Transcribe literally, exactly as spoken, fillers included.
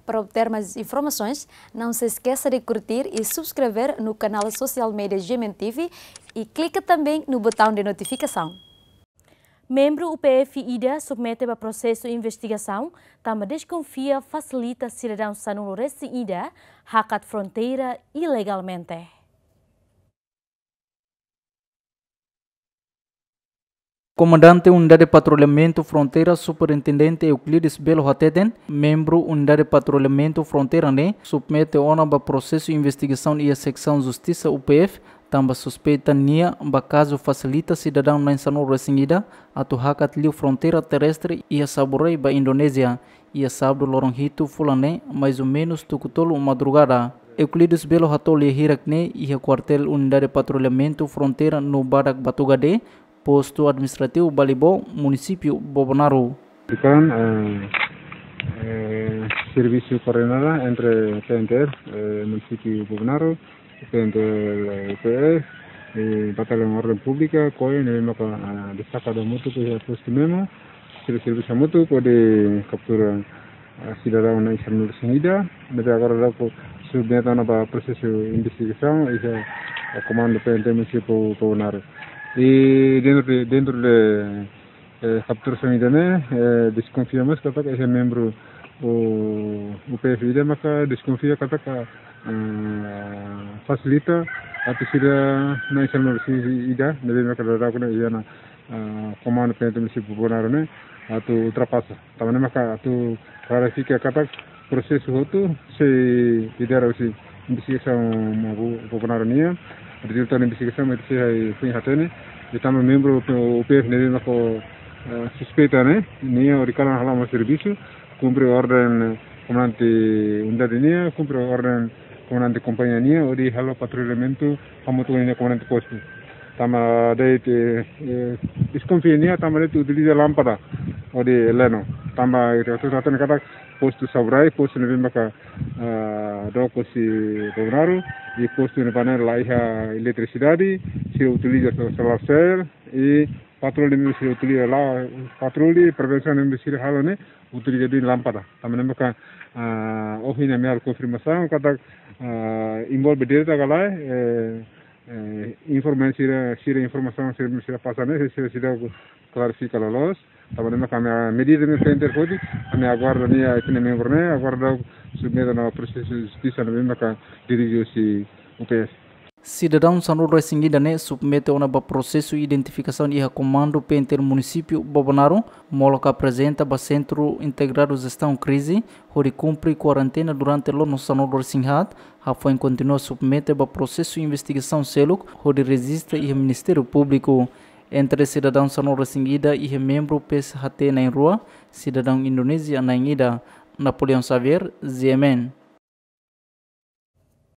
Para obter mais informações, não se esqueça de curtir e subscrever no canal social media G M N T V e clica também no botão de notificação. Membru U P F ida submete ba prosesu investigasaun, tanba deskonfia fasilita sidadaun sanulu-resin-ida hakat fronteira ilegalmente. Komandante Unidade Patrullamentu Fronteira, Superintendente Euclides Belo hateten, membru Unidade Patrullamentu Fronteira ne'e submete ona ba prosesu investigasaun iha Seksaun Justisa U P F, tanba suspeita nia ba kazu fasilita sidadaun na'in sanulu-resin-ida atu hakat liu fronteira terrestre iha Saburai ba Indonézia, iha sábadu loron hitu fulan ne'e, mais ou menus tuku tolu madrugada. Euclides Belo hato'o lia hirak ne'e iha kuartél Unidade Patrullamentu Fronteira no badak Batugadé, Postu Administrativu Balibó, Munisípiu Bobonaro. Bukan, eh, eh, servisu koordenada entre P N T F, eh, Munisípiu Bobonaro, P N T L, eh, P F, eh, Bataliaun Orden Públika, koe, ne'ebé maka, ah, destaka hamutuk iha postu Memo, sira servisu hamutuk hodi kaptura, ah, sidadaun na'in sanulu-resin-ida, ne'ebé agora daudaun submete ona ba prosesu investigasaun iha, ah, Komandu P N T Munisípiu Bobonaro. E dentro de, dentro de eh, kapturasaun ida-ne'e, eh, deskonfia mós katak iha membru U-, U P F ida maka deskonfia katak, eh, fasilita atu sira na'in sanulu-resin-ida, ne'ebé maka daudaun ne'e iha ona, eh, Komandu P N T Munisípiu Bobonaro ne'e atu ultrapasa. Tanba ne'e maka atu klarifika katak prosesu hotu sei lidera husi investigasaun Bobonaro nian. Rezultadu investigasaun mak sei foin hatene. I tanba membru U P F ne'ebé maka, eh, suspeita ne'e, nia hori kalan hala'o mós servisu, kumpre orden komandante unidade nian, kumpre orden komandante kompañia nian, hodi halo patrullamentu hamutuk ho nia komandante postu. Tanba de'it, eh, deskonfia nia, tanba de'it utiliza lánpada hodi leno. Tanba ita hotu hatene katak postu Saburai, postu ne'ebé maka, ah, dook husi Bobonaro, i postu ne'ebá ne'e laiha eletrisidade, sira utiliza so-, solar cell, i patroli ne'ebé sira utiliza la, patroli prevensaun ne'ebé sira halo ne'e utiliza de'it lánpada. Tanba ne'e maka, ah, ohin ami halo konfirmasaun katak, ah, envolve direta ka lae, eh, eh, informa sira, sira informasaun sira, sira pasa ne'e, sira, sira klarifika loloos. Tanba ne'e maka ami, ah, medida ne'e P N T F hodi, ami aguarda nia ita-nia membru ne'e, aguarda submete ona prosesu justisa ne'ebé maka dirije husi U P F. Sidadaun sanulu-resin-ida ne'e submete ona ba prosesu identifikasaun iha Komandu P N T L Munisípiu Bobonaro, molok aprezenta ba Sentru Integradu Jestaun Krize, hodi kumpre kuarentena durante loron sanulu-resin-haat, hafoin kontinua submete ba prosesu investigasaun seluk, hodi rejista iha Ministériu Públiku. Entre sidadaun sanulu-resin-ida iha membru P S H T na'in-rua, sidadaun Indonézia na'in-ida. Napoleão Xavier, G M N.